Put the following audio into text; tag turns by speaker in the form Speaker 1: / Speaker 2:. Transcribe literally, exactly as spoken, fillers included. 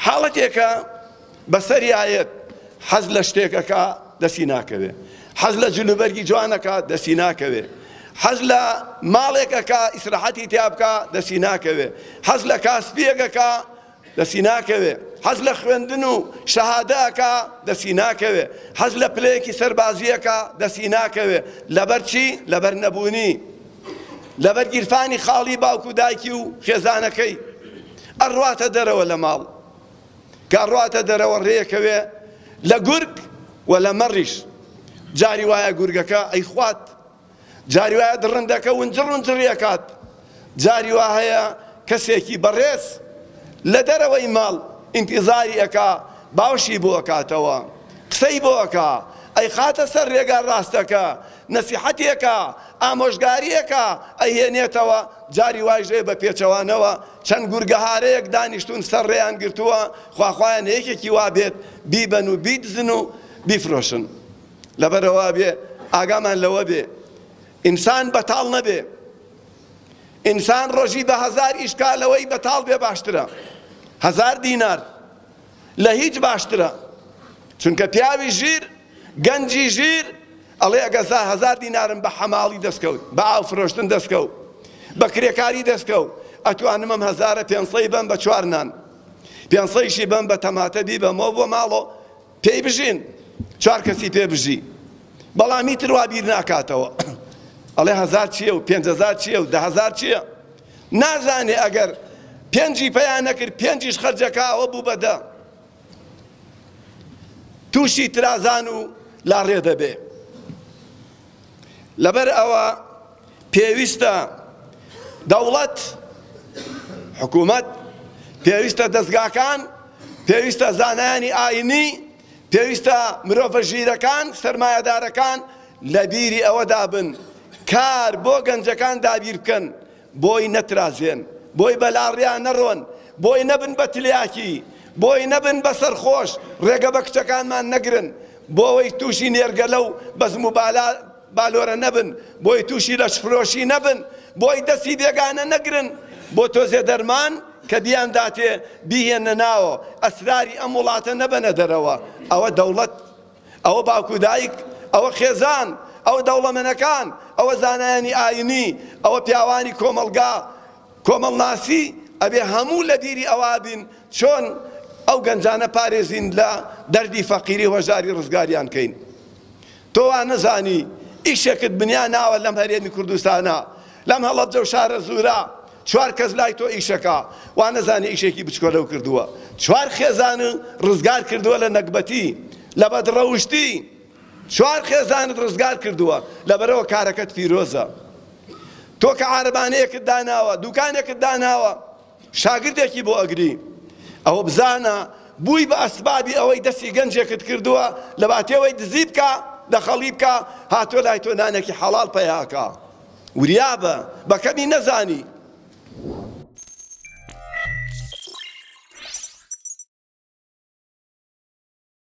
Speaker 1: حاڵەتێکە بەسەریایەت، حەز لە شتێکەکە دەستی ناکەوێ، حەز لە جلوبەرگی جوانەکە دەستی ناکەوێ، حەز لە ماڵێکەکە ئیسراحەتی تیا بکا دەستی ناکەوێ، حەز لە کاسپیەکەکە دەستی ناکەوێ، حەز لە خوێندن و شەهادەکە دەستی ناکەوێ، حەز لە پلەیەکی سەربازیەکە دەستی ناکەوێ. لەبەر چی؟ لەبەر نەبوونی، لەبەر گیرفانی خاڵی باوک و دایکی و خێزانەکەی. ئەڕواتە دەرەوە لە ماڵ، کە ئەڕواتە دەرەوە ڕێکەوێ لە گورگ و لە مەڕیش. جاری وایە گورگەکە ئەیخوات، جاری وایە دڕندەکە ونجڕ ونجڕی ئەکات، جاری وا هەیە کەسێکی بەڕێز لە دەرەوەی ماڵ ئینتیزاری ئەکا، باوشی بۆ ئەکاتەوە، قسەی بۆ ئەکا، ئەیخاتە سەر ڕێگا ڕاستەکە، نەسیحەتێکە، ئامۆژگاریەکە ئەیهێنێتەوە. جاری وایش هەیە بە پێچەوانەوە چەند گورگەهارەیەک دانیشتون سەر ڕێیان گرتووە، خواخوایان یەکێکی وا بێت بیبەن و بیدزن و بیفرۆشن. لەبەرەوە بێ ئاگامان لەوە بێ ئینسان بەتاڵ نەبێ. ئینسان ڕۆژی بە هەزار ئیشکا لەوەی بەتاڵ بێ باشترە، هەزار دینار لە هیچ باشترە. چونکە پیاوی ژیر، گەنجی ژیر ئەڵێ ئەگە هەزار دینارم بە حەماڵی دەستکەوت، بە ئاو فرۆشتن دەستکەوت، بە کرێکاری دەستکەوت، ئەتوانم ئەم هەزارە پێنسەی بەم بە چوار نان، پێنسەیشی بەم بە تەماتە بیبەمەوە بۆ ماڵۆ پێی بژین، چوار کەسی پێ بژی. بەڵام هیتر وا بیر ناکاتەوە، ئەڵێ هەزار چییە و پێنج هەزار چییە و دە هەزار چییە. نازانێ ئەگەر پێنجی پەیا نەکرد پێنجیش خەرجەکە ئەوە بوو بە دە، تووشی ترازان و لاڕێ دەبێ. لەبەر ئەوە پێویستە دەوڵەت، حکوومەت، پێویستە دەستگاکان، پێویستە زانایانی ئاینی، پێویستە مرۆڤە ژیرەکان، سەرمایەدارەکان لە بیری ئەوەدا بن کار بۆ گەنجەکان دابیر بکەن، بۆی نەترازێن، بۆی بەلاڕیان نەڕۆن، بۆی نەبن بە تلیاکی، بۆی نەبن بە سەرخۆش، ڕێگە بە کچەکانمان نەگرن، بۆ ئەوەی تووشی نێرگەلە و بەزم و بالۆرە نەبن، بۆی تووشی لەشفرۆشی نەبن، بۆی دەستی بێگانە نەگرن، بۆ تۆزێ دەرمان کە بیانداتێ بیهێنە ناوە، ئەسراری ئەم وڵاتە نەبەنە دەرەوە. ئەوە دەوڵەت، ئەوە باوک و دایک، ئەوە خێزان، ئەوە دەوڵەمەنەکان، ئەوە زانایانی ئاینی، ئەوە پیاوانی کۆمەڵگا، کۆمەڵناسی، ئەبێ هەموو لە بیری ئەوە بین چۆن ئەو گەنجانە پارێزین لە دەردی فەقیری هۆژاری ڕزگاریان کەین. تۆ وا نەزانی ئیشێکت بنیا ناوە لەم هەرێمی کوردستانە، لەم هەڵەبجە و شارە زورا چوار کەس لای تۆ ئیشەکە، وا نەزانی ئیشێکی بچکۆلەو کردووە، چوار خێزان ڕزگار کردووە لە نەگبەتی، لە بەدڕەوشتی، چوار خێزانت ڕزگار کردووە. لەبەرەوە کارەکەت پیرۆزە. تۆ کە عارەبانەیەکت داناوە، دوکانێکت داناوە، شاگردێکی بۆ ئەگری، ئەوە بزانە بووی بە ئەسبابی ئەوەی دەستی گەنجێکت کردووە لە باتێوەی دزی بکە، دەخەڵی بکە، هاتۆ لای تۆ نانێکی حەڵاڵ پەیاکە. وریابە، بە کەمی نەزانی.